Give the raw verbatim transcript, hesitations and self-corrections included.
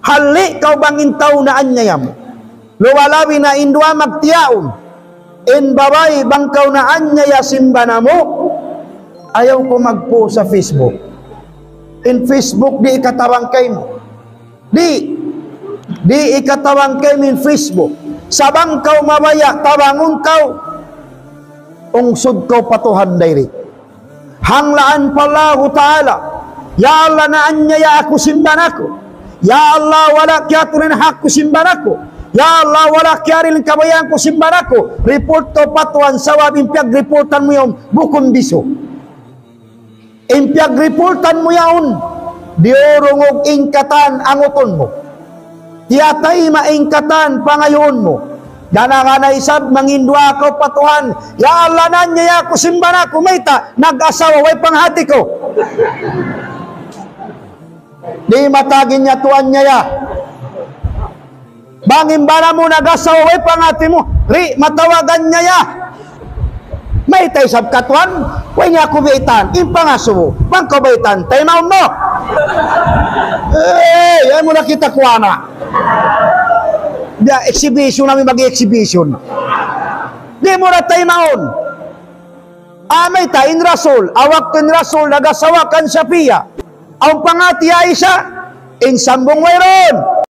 Halli' kaw bang in tau naanyaya mu. Luwalabi na in duwa magtiyaun. In babai bang kaw naanyaya sin bana mu, ayaw kaw mag-post ha Facebook. In Facebook di' ikatabang kaymu. Di', di' ikatabang kaymu in Facebook. Sa' bang kaw mabaya' tabangun kaw, ungsud kaw pa Tuhan direct. Hanglaan pa Allahu Ta'ala. Ya Allah, naanyaya aku sin bana ku. Ya Allah, wala' kiyatun in hak ku sin bana ku. Ya Allah, wala' kiyarihil in kabayaan ku sin bana ku. Report kaw pa Tuhan, sabab in piyag-reportan mu yaun, bukun bisu. In piyag-reportan mu yaun, diyurungug in katan angutun mu. Tiyatayma' in katan pangayuun mu. Gana-gana isab manginduwaa kaw pa Tuhan, "Ya Allah, naanyaya aku sin bana ku, mayta', nag-asawa, way panghati ku." Di' matag in yadtu anyaya. Bang in bana mu nag-asawa, way panghati mu, di' matawag anyaya. Mayta' isab katuan, way niya aku baytaan, in pangasubu, bang kaw baytaan, taymaun mu. Eh, yan mu na kita kuwana. Biya' exhibition nami mag-exhibition. Di' mu na taymaun. Amay ta in Rasul, waktu in Rasul nag-asawa kan Safiya. Awn panghati Aisha, in sambung wayruun.